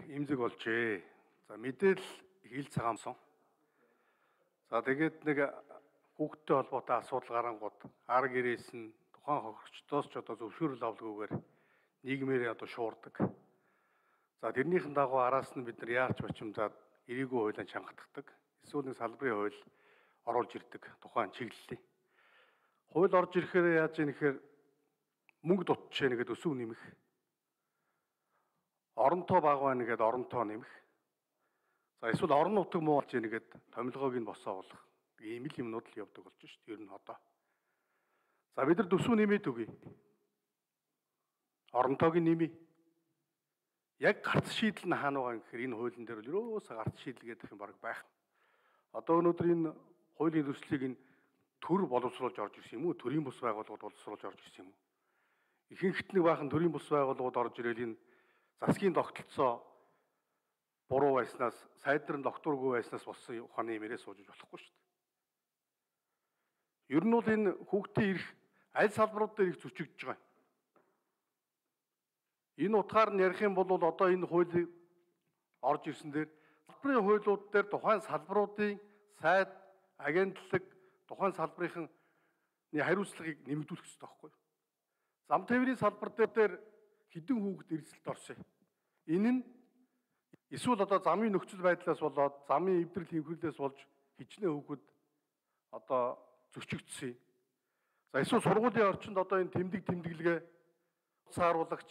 имзэг болжээ. За мэдээлэл хил цагаамсан. За тэгээд нэг хүүхдтэй холбоотой асуудал гарангууд арга ирээс нь тухайн хохирогчдоос ч одоо зөвшөөрөл авалгүйгээр нийгмээр одоо шуурдаг. За тэрнийхэн дагуу араас нь бид нар яарч бачимдаад эрийгүй хуулианд чангатдаг. Эсвэл нэг салбарын хууль оруулж ирдэг тухайн чиглэлийн. Хууль орж ирэхээр яаж ийм нэхэр мөнгө дутчихэ нэгэд өсөв нэмэх. Оронтой баг байна гэхэд оронтой нэмэх. За эсвэл орон нутаг муу болж нэгэд томилгоог нь босоолох. Ийм л юмнууд л явдаг болж шүү дээ. Ер нь одоо. За бид нар төсөв нэмээд үгүй. Оронтойг нь нэмье. Яг гарц шийдэл нь хаана байгаа гэхээр энэ хуулийн дээр л ерөөсөө гарц шийдэл гэдэг юм баг байх. Одоо өнөөдөр энэ хуулийн төслийг нь төр боловсруулж орж ирсэн юм уу? Төрийн бус байгууллагууд боловсруулж орж ирсэн юм уу? Ихэнх нэг баахан төрийн бус байгууллагууд орж ирэл энэ засгийн тогтолцоо буруу байснаас, сайдар нь докторгүй байснаас болсон ухааны юмэрээ сууж болохгүй шүү дээ. Ер нь бол энэ хүүхдийн эрх аль салбарууд дээр их зөрчигдөж байгаа юм. Энэ утгаар нь ярих юм бол одоо энэ хуулийг орж ирсэн дээр салбарын хуулиуд дээр тухайн салбаруудын сайд, агентлаг, тухайн салбарын хариуцлагыг нэмэгдүүлэх хэрэгтэй байхгүй юу? Зам тээврийн салбар дээр хэдэн хүүхэд эрсдэлд орсон. Энэ нь эсвэл одоо замын нөхцөл байдлаас болоод замын эвдрэл хэмхрэглээс болж хичнээн хүүхэд одоо зөрчигдсөн. За эсвэл сургуулийн орчинд одоо энэ тэмдэглэгээ сааруулагч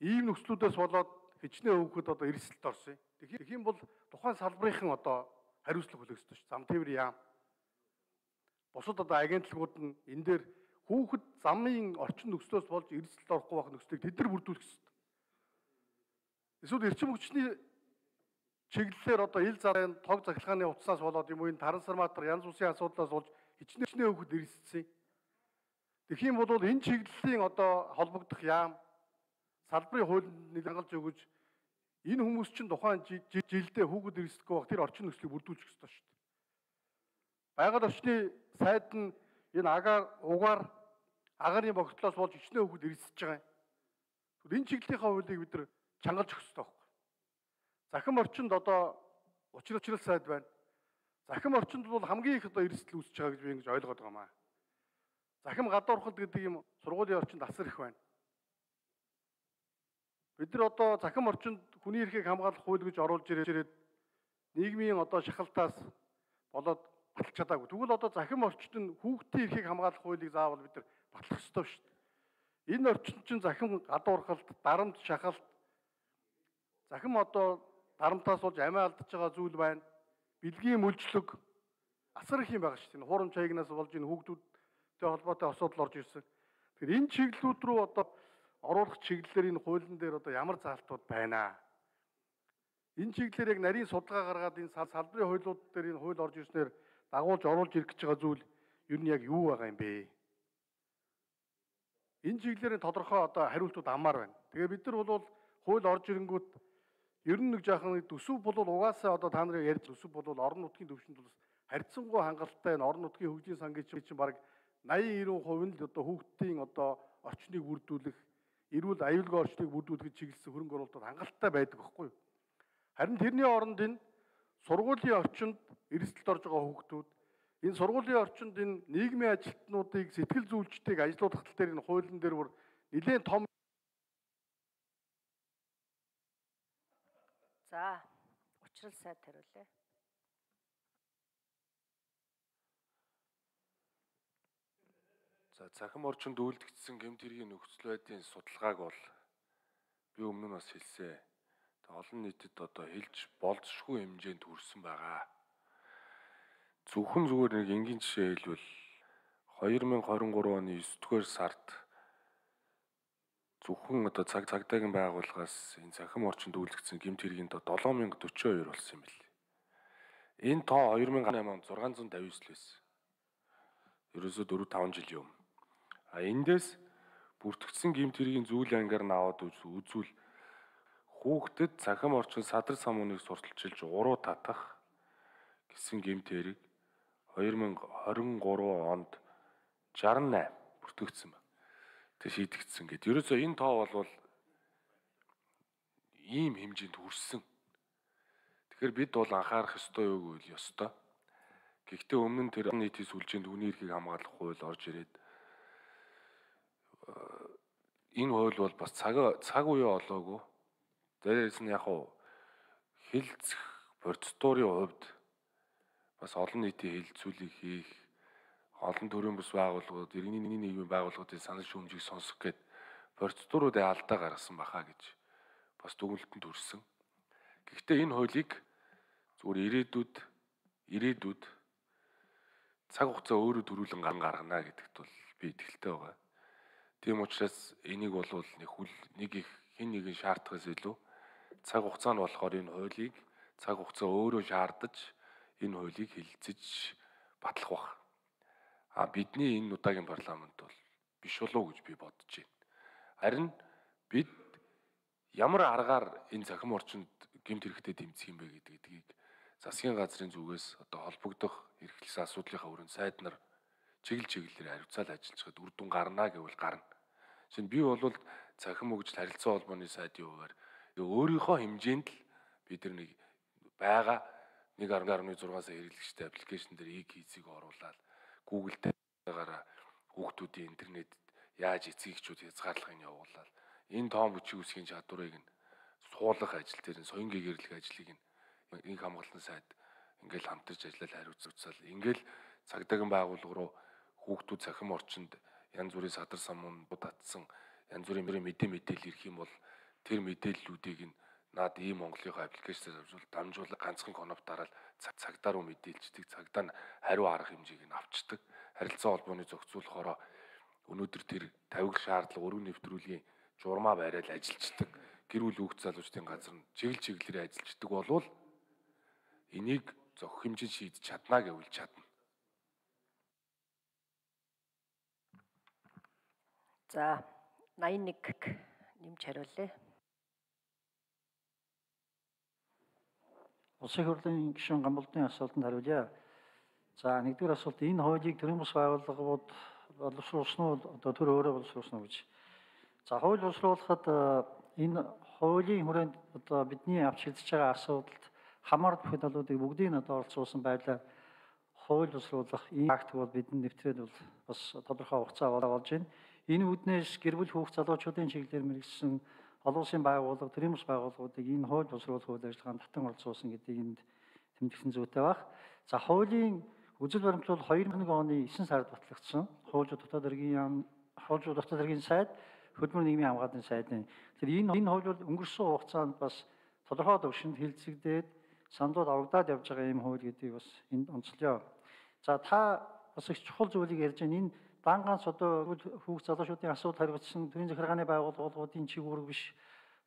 ийм нөхцлүүдээс болоод хичнээн хүүхэд одоо эрсдэлд орсон. Тэгэх юм бол тухайн салбарынхан одоо хариуцлага хүлээх ёстой шүү. Зам тээврийн яам. Бусад одоо агентлагууд нь энэ дээр хүүхэд замын орчин нөхцлөөс болж эрсдэлд орохгүй байх нөхцөлийг тэд нар бүрдүүлэх ёстой. Эсвэл эрчим хүчний чиглэлээр одоо ил зарын тог захилгааны утаснаас болоод юм уу энэ трансформатор янз бүрийн асуудлаас болж хичнээн хүүхэд эрсдсэн. Тэгэх юм бол энэ чиглэлийн одоо холбогдох яам салбарын хуулинд хангалж өгөж энэ хүмүүс чинь тухайн жилдээ хүүхэд эрсдэхгүй байх тэр орчин нөхцөлийг бүрдүүлчих ёстой шүү дээ. Байгаль орчны сайд нь энэ угаар агарын богдлоос болж хичнээн хүүхэд эрсдэж байгаа юм. Энэ чиглэлийнхаа хуулийг бид нар чангалж өгөх ёстой байхгүй. Захим орчинд одоо учрал сайд байна. Захим орчинд бол хамгийн их одоо эрсдэл үүсэж байгаа гэж би ингэж ойлгоод байгаа маа. Захим гадуурхал гэдэг юм сургуулийн орчинд асар их байна. Бид нар одоо захим орчинд хүний эрхийг хамгаалах хууль гэж оруулж ирээд нийгмийн одоо шахалтаас болоод баталж чадаагүй. Тэгвэл одоо захим орчинд хүүхдийн эрхийг хамгаалах хуулийг заавал бид нар батлах ёстой шүү дээ. Энэ орчинд чинь захим гадуурхалт, дарамт, шахалт, захим одоо дарамтаас болж амиа алдаж байгаа зүйл байна. Бэлгийн мүлжлөг асар их юм байгаа шүү дээ. Хуурамч хаягнаас болж энэ хүүхдүүдтэй холбоотой асуудал орж ирсэн. Тэгэхээр энэ чиглэлүүд рүү одоо оруулах чиглэлээр энэ хуулийн дээр одоо ямар заалтууд байна. Энэ чиглэлээр яг нарийн судалгаа гаргаад энэ салбарын хуулиуд дээр энэ хууль орж ирснээр дагуулж оруулж ирэх гэж байгаа зүйл ер нь яг юу байгаа юм бэ? Энэ чиглэлээр тодорхой одоо хариултууд аммаар байна. Тэгээ бид нар бол хууль орж ирэнгүүт ер нь нэг жаахан төсөв бол угаасаа одоо та нарыг ярьж төсөв бол орон нутгийн төвшөнд бол харьцангуй хангалттай энэ орон нутгийн хөгжлийн сангийн чинь баг 80-90% нь л одоо хүүхдийн одоо орчныг бүрдүүлэх, эрүүл аюулгүй орчныг бүрдүүлэх чиглэсэн хөрөнгө оруулалтад хангалттай байдаг байхгүй юу? Харин тэрний оронд энэ сургуулийн орчинд эрсдэлд орж байгаа хүүхдүүд энэ сургуулийн орчинд энэ нийгмийн ажилтнуудыг сэтгэл зүйчдийг ажлуулах тал дээр энэ хуулийн дээр бүр нэлээд том. За, учрал сайд хариулъя. За, захим орчинд үйлдэгдсэн гэмт хэргийн нөхцөл байдлын судалгааг бол би өмнө нь бас хэлсэн. Олон нийтэд одоо хэлж болзошгүй хэмжээнд хүрсэн байгаа. Зөвхөн зүгээр нэг энгийн жишээ хэлбэл 2023 оны 9-р сард зөвхөн одоо цагдаагийн байгууллагаас энэ захим орчинд үйлдэгдсэн гэмт хэргийн тоо 7042 болсон юм билээ. Энэ тоо 2008 онд 659 л байсан. Ерөөсөө 4-5 жилийн өмнө. Эндээс бүртгэгдсэн гэмт хэргийн зүйл ангаар нь аваад үзвэл хүүхдэд захим орчин садар самууныг сурталчилж уруу татах гэсэн гэмт хэрэг 2023 онд 68 бүртгэгдсэн байна. Тэг шийдэгдсэн гэдэг. Ерөөсөө энэ тоо бол ийм хэмжээнд хүрсэн. Тэгэхээр бид бол анхаарах ёстой юу гэвэл ёстой. Гэхдээ өмнө нь тэр нийтийн сүлжээнд хүний эрхийг хамгаалах хууль орж ирээд энэ хууль бол бас цаг үе олоогүй. Дээрээс нь яг хэлцэх процедурын хувьд бас олон нийтийн хэлэлцүүлэг хийх, олон төрлийн бус байгууллагууд, иргэний нийгмийн байгууллагуудын санал шүүмжийг сонсох гээд процедуруудыг алдаа гаргасан баха гэж бас дүгнэлтэнд хүрсэн. Гэхдээ энэ хуулийг зүгээр ирээдүйд цаг хугацаа өөрөө төрүүлэн гаргана гэдэгт бол би итгэлтэй байгаа. Тийм учраас энийг бол нэг их хэн нэгэн шаардахаас илүү цаг хугацаа нь болохоор энэ хуулийг цаг хугацаа өөрөө шаардаж энэ хуулийг хэлэлцэж батлах баг. Бидний энэ удаагийн парламент бол биш болов гэж би бодож байна. Харин бид ямар аргаар энэ цахим орчинд гэмт хэрэгтэй дэмжих юм бэ гэдгийг засгийн газрын зүгээс холбогдох эрхлэлсэн асуудлынхаа өрөөнд сайд нар чиглэлээр хариуцаал ажиллаж хад үр дүн гарна гэвэл гарна. Жишээ нь би бол цахим хөгжил харилцаа холбооны сайдын хувьар өөрийнхөө хэмжээнд л бид нар нэг байгаа 1.6 сая хэрэглэгчтэй аппликейшн дээр e-кейсийг оруулаад Google-тайгаараа хүүхдүүдийн интернет яаж эцгийгчүүд хязгаарлахыг явуулаад энэ тоон бичиг үсгийн чадварыг нь суулгах ажил дээр соён гэгэрлэх ажлыг инх хамгаалалтын сайд ингээл хамтарч ажиллаад хариуцал ингээл цагдаагийн байгууллага руу хүүхдүүд цахим орчинд янз бүрийн садар самуунууд татсан янз бүрийн мэдээлэл ирэх юм бол тэр мэдээллүүдийг нь наад ийм Монголынхаа аппликейшнээр дамжуулаад ганцхан конопт дараал цагдаа руу мэдээлждэг, цагдаа нь хариу арга хэмжээг нь авчдаг. Харилцаа холбооны зохицуулахороо өнөөдөр тэр тавиг шаардлага өргөн нэвтрүүлгийн журмаа бариад ажиллаждаг. Гэр бүл хүүхд залуучдын газар нь чиглэлээр ажиллаждаг болвол энийг зохих хэмжээнд шийдэж чадна гэвэл чадна. За 81 нэмж хариулъя. Улсын хурлын гишүүн Гамболдын асуултанд хариулъя. За нэгдүгээр асуулт энэ хуулийг төрийн бус байгууллагууд боловсруулсан уу төр өөрөө боловсруулсан уу гэж. За хууль боловсруулахад энэ хуулийн хүрээнд бидний авч хэлж байгаа асуудалд хамаар бүхэд алуудыг бүгдийг оролцуулсан байдлаар хууль боловсруулах ийм акт бол бидний нэвтрээд бол бас тодорхой хугацаа болж байна. Энэ үүднээс гэр бүл хүүхд залуучуудын чиглэлээр мэргэжсэн олон улсын байгууллага, төрийн бус байгууллагуудыг энэ хууль боловсруулах үйл ажиллагаанд татан оролцуулсан гэдгийг энд тэмдэглэн зүйтэй баг. За хуулийн үзэл баримтлал 2001 оны 9 сард батлагдсан. Хуулиуд дотоод хэргийн сайд, хөдөлмөр нийгмийн хамгааллын сайдын. Тэгэхээр энэ хууль бол өнгөрсөн хугацаанд бас тодорхой төвшөнд хилцэгдээд сандууд авагдаад явж байгаа юм хууль гэдгийг бас энд онцлоё. За та бас их чухал зүйлийг ярьж байна. Энэ дан ганц хүүхд залуучуудын асуудал хариуцсан төрийн захиргааны байгууллагуудын чиглэл биш,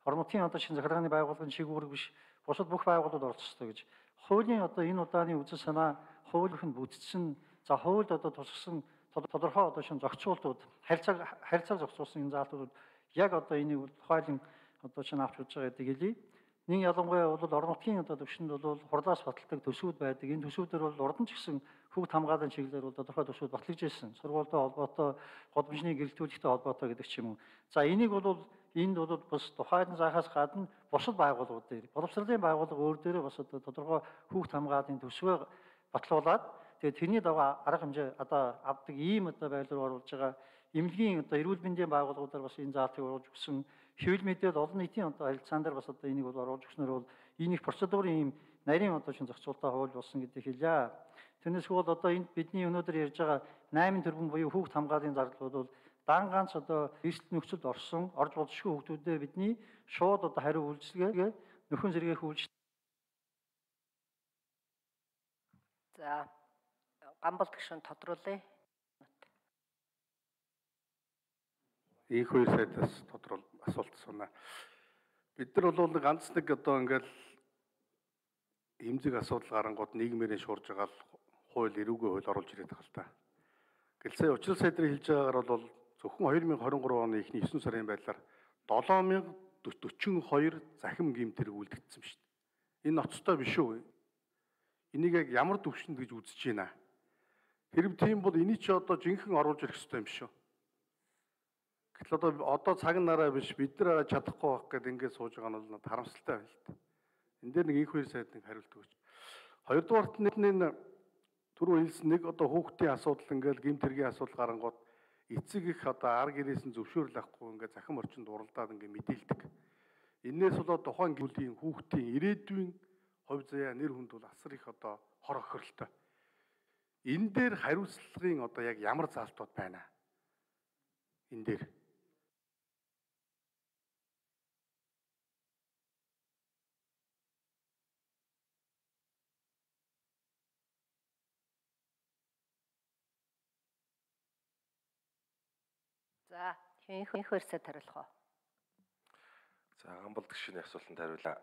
орон нутгийн шинэ захиргааны байгууллагын чиглэл биш, бусад бүх байгууллагууд оролцдог гэж. Хуулийн энэ удааны үзэл санаа хуулийнх нь бүтцсэн. За хуульд тусгасан тодорхой шинэ зохицуултууд, харилцааг зохицуулсан энэ заалтууд яг энийг тухайлан шинэ авч үзэж байгаа гэдэг хэлье. Нэг ялангуяа бол орон нутгийн төвшөнд бол хурлаас баталдаг төсвүүд байдаг. Энэ төсвүүдээр бол урд нь ч гэсэн хүүхд хамгааллын чиглэлээр бол тодорхой төсвүүд батлагдж ирсэн. Сургуультай холбоотой, гудамжны гэрэлтүүлэгтэй холбоотой гэдэг ч юм уу. За энийг бол энд бол бас тухайн заахаас гадна бусад байгууллагууд дээр, боловсролын байгууллага өөр дээрээ бас тодорхой хүүхд хамгааллын төсвөө батлуулаад тэгээд тэрний дагуу арга хэмжээ авдаг ийм байдлаар оруулж байгаа эмнэлгийн эрүүл мэндийн байгууллагуудаар бас энэ заалтыг оруулж өгсөн. Хэвлэл мэдээлэл олон нийтийн харилцаан дээр бас энийг бол оруулж өгснөр бол энэ их процедурын ийм нарийн шинэ зохицуулалтаа хууль болсон гэдгийг хэлье. Тэрнээс бол энд бидний өнөөдөр ярьж байгаа 8 тэрбум буюу хүүхд хамгааллын зардал бол дан ганц эрсдэл нөхцөлд орж болзошгүй хүүхдүүдэд бидний шууд хариу үйлчилгээ нөхөн сэргээх үйлчлэл. За Гамболд гишүүн тодруулъя. Их хоёр сайдаас асуулт асууна. Бид нар бол ганц нэг ингээл эмзэг асуудал гарангууд нийгмээрээ шуурж байгаа хууль эрүүгийн хууль оруулж ирээд байгаа л та. Гэлцээ учрал сайдрын хэлж байгаагаар бол зөвхөн 2023 оны эхний 9 сарын байдлаар 7042 захим гэмт хэрэг үлдэгдсэн шүү дээ. Энэ ноцтой биш үү? Энийг яг ямар төвшөнд гэж үзэж байна? Хэрэг тийм бол энийг чи жинхэнэ оруулж ирэх хэрэгтэй юм шүү. Гэтэл одоо цаг нараа биш бид нар арай чадахгүй байх гэдэг ингээд сууж байгаа нь бол харамсалтай байна л та. Энд дээр нэг их хоёр сайд нэг хариулт өгч. Хоёрдугаарт энэ түрүү хэлсэн нэг одоо хүүхдийн асуудал ингээд гэмт хэргийн асуудал гарангууд эцэг их одоо ар гэрээс нь зөвшөөрөл авахгүй ингээд захим орчинд уралдаад ингээд мэдээлдэг. Энээс болоод тухайн гүлийн хүүхдийн ирээдүйн хувь заяа нэр хүнд бол асар их одоо хор охиролтой. Энэ дээр хариуцлагын одоо яг ямар заалтууд байна? Энэ дээр За их хөрсөд хариулах уу? За Гамбал гишүүний асуултанд хариулаа.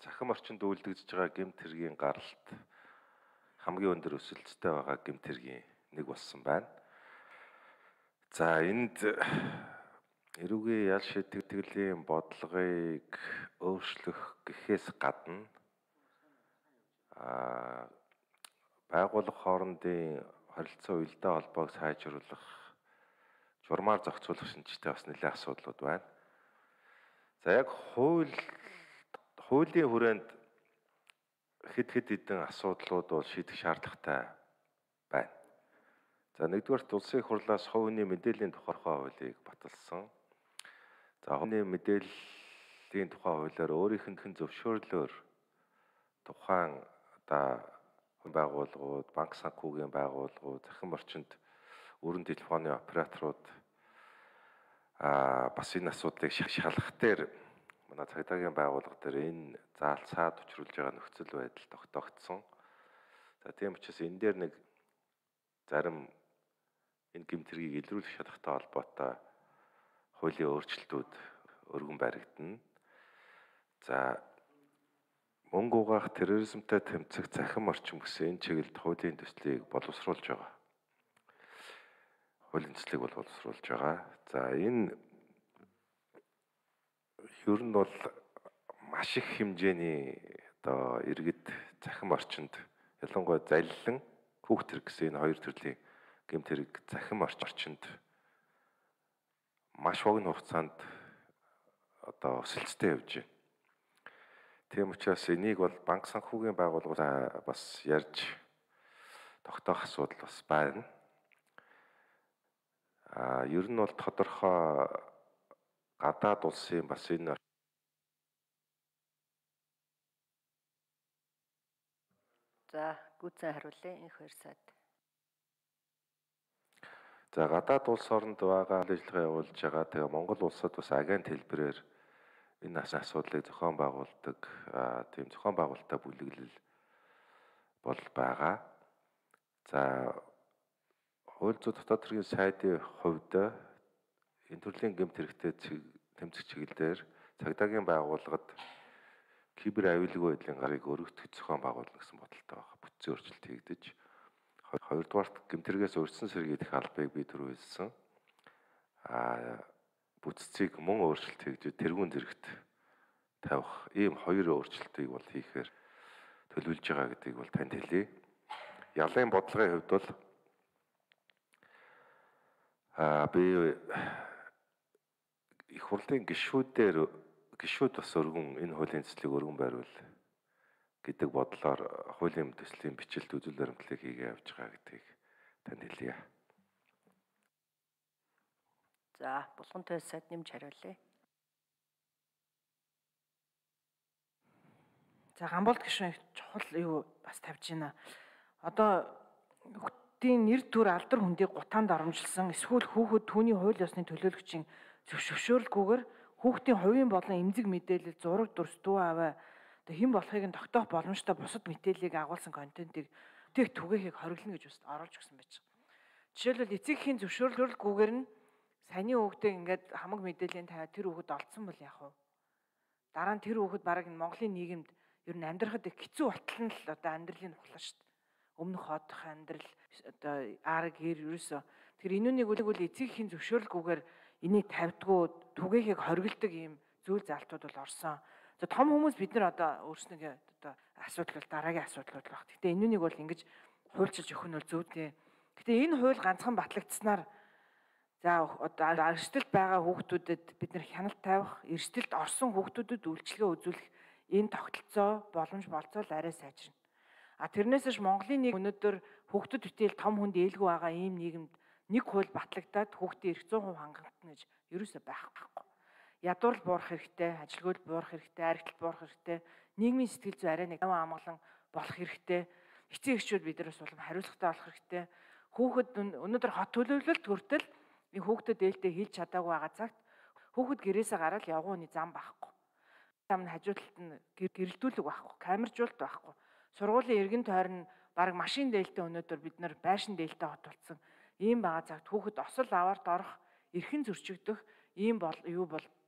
Захим орчинд үйлдэгдэж байгаа гэмт хэргийн гаралт хамгийн өндөр өсөлттэй байгаа гэмт хэргийн нэг болсон байна. За энд эрүүгийн ял шийтгэлийн бодлогыг өөрчлөх гэхээс гадна байгууллага хоорондын харилцаа уялдаа холбоог сайжруулах, журмаар зохицуулах шинжтэй бас нэлээд асуудлууд байна. За яг хуулийн хүрээнд хэд хэдэн асуудлууд бол шийдэх шаардлагатай байна. За нэгдүгээрт улсын их хурлаас хувийн мэдээллийн тухай хуулийг баталсан. За хувийн мэдээллийн тухай хуулиар өөрийнх нь зөвшөөрлөөр тухайн одоо байгууллагууд, банк санхүүгийн байгууллагууд, захим орчинд өргөн телефоны операторууд бас энэ асуудлыг шалгах дээр манай цагдаагийн байгууллага дээр энэ заалцаад учруулж байгаа нөхцөл байдал тогтоогдсон. За тийм учраас энэ дээр нэг зарим энэ гэмт хэргийг илрүүлэх шалгатай холбоотой хуулийн өөрчлөлтүүд өргөн баригдана. За мөнгө угаах, терроризмтай тэмцэх захим орчин гэсэн энэ чиглэлд хуулийн төслийг боловсруулж байгаа. Хуулийн төслийг боловсруулж байгаа. За энэ ер нь бол маш их хэмжээний одоо иргэд захим орчинд ялангуяа залилан хүүхд хэрэг гэсэн энэ хоёр төрлийн гэмт хэрэг захим орчинд маш богино хугацаанд одоо өсөлттэй явж байна. Тийм учраас энийг бол банк санхүүгийн байгууллага бас ярьж тогтоох асуудал бас байна. Ер нь бол тодорхой гадаад улсын бас энэ За гүйцэн хариулъя их хоёр сайд. за гадаад улс оронд байгаа ажиллагаа явуулж байгаа. Тэгээ Монгол улсад бас агент хэлбэрээр энэ асуудлыг зохион байгуулдаг тийм зохион байгуулалттай бүлэглэл бол байгаа. За хууль зүйн дотоод хэргийн сайдын хувьд энэ төрлийн гэмт хэрэгтэй тэмцэх чиглэлээр цагдаагийн байгууллагад кибер аюулгүй байдлын гарыг өргөтгөх зохион байгуулна гэсэн бодолтой байгаа. Бүтцийн өөрчлөлт хийгдэж хоёрдугаарт гэмт хэрэгээс урьдчилан сэргийлэх албыг би түрүү хэлсэн. Бүтцийг мөн өөрчлөлт хийгдэж тэргүүн зэрэгт тавих ийм хоёр өөрчлөлтийг бол хийхээр төлөвлөж байгаа гэдгийг бол танд хэлье. Ялын бодлогын хувьд бол би их хурлын гишүүд бас өргөн энэ хуулийн төслийг өргөн байруул гэдэг бодлоор хуулийн төслийн бичлэлт үзүүл баримтлалыг хийгээ явж байгаа гэдгийг танд хэлье. За Булган туйлын сайд нэмж хариулъя. За Гамболд гишүүн чухал юу бас тавьж байна. Одоо хүүхдийн нэр төр алдар хүндийг гутаанд оромжилсан эсвэл хүүхэд түүний хууль ёсны төлөөлөгчийн зөвшөөрөлгүйгээр хүүхдийн хувийн болон эмзэг мэдээлэл, зураг, дүрс, дүү аваа одоо хэн болохыг нь тогтоох боломжтой бусад мэдээллийг агуулсан контентыг түгээхийг хориглоно гэж бас оруулж өгсөн байж байгаа. Жишээлбэл эцэгхийн зөвшөөрөлгүйгээр нь саяны хүүхдээ ингээд хамаг мэдээллийн тавиад тэр хүүхэд олдсон бол яах вэ? Дараа нь тэр хүүхэд бараг энэ Монголын нийгэмд ер нь амьдрахад их хэцүү болтол нь л одоо амьдралын ухлаа шүү дээ. Өмнөх хоодох амьдрал одоо арга гэр ерөөсөө тэр энүүнийг үл эцэгхийн зөвшөөрөлгүйгээр энийг тавьдгүй түгээхийг хориглодог ийм зүйл заалтууд бол орсон. За том хүмүүс бид нар одоо өөрснөө одоо асуудал бол дараагийн асуудлууд л баг. Гэтэ энүүнийг бол ингэж хуульчилж өгөх нь бол зөв дээ. Гэтэ энэ хууль ганцхан батлагдсанаар За одоо эрсдэлд байгаа хүүхдүүдэд бид нэр хяналт тавих, эрсдэлд орсон хүүхдүүдэд үйлчилгээ үзүүлэх энэ тогтолцоо боломж болцоол арай сайжирна. Тэрнээс ш Монголын нэг өнөөдөр хүүхдэд бүтээл том хүнд ээлгүй байгаа ийм нийгэмд нэг хууль батлагдаад хүүхдийн эрх 100% хангагдана гэж ерөөсөй байхгүй. Ядуурл буурах хэрэгтэй, ажилгүйд буурах хэрэгтэй, аригтлал буурах хэрэгтэй, нийгмийн сэтгэл зүй арай нэг амгалан болох хэрэгтэй. Эцэг эхчүүд биднээс улам хариуцлагатай болох хэрэгтэй. Хүүхэд өнөөдөр хот төлөвлөлт хүртэл энэ хүүхдэд ээлдээ хэлж чадаагүй байгаа цагт хүүхэд гэрээсээ гараад явгууны зам байхгүй. Зам нь хажууталт нь гэрэлтүүлэг байхгүй, камержуулалт байхгүй. Сургуулийн эргэн тойрон баг машин дээлтэй өнөөдөр бид нар байшин дээлтэй хот болсон. Ийм байгаа цагт хүүхэд осол аваарт орох, эрхэн зөрчигдөх ийм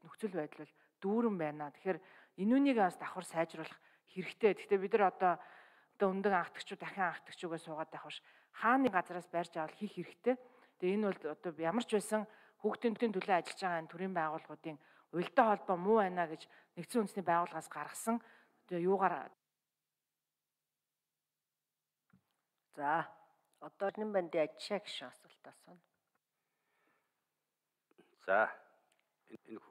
нөхцөл байдал дүүрэн байна. Тэгэхээр энүүнийг бас давхар сайжруулах хэрэгтэй. Гэхдээ бид нар одоо өндөг анхдагчуд дахин анхдагчугаа суугаад байх биш. Хааны газараас байрж авал хийх хэрэгтэй. Тэгээ энэ бол одоо ямар ч байсан хүүхдийн төлөө ажиллаж байгаа энэ төрийн байгууллагуудын уялдаа холбоо муу байна гэж нэгдсэн үндэсний байгууллагаас гаргасан одоо юугаар. За одоо энэ бандын ажишаа гişүн асуулт асууна. За энэ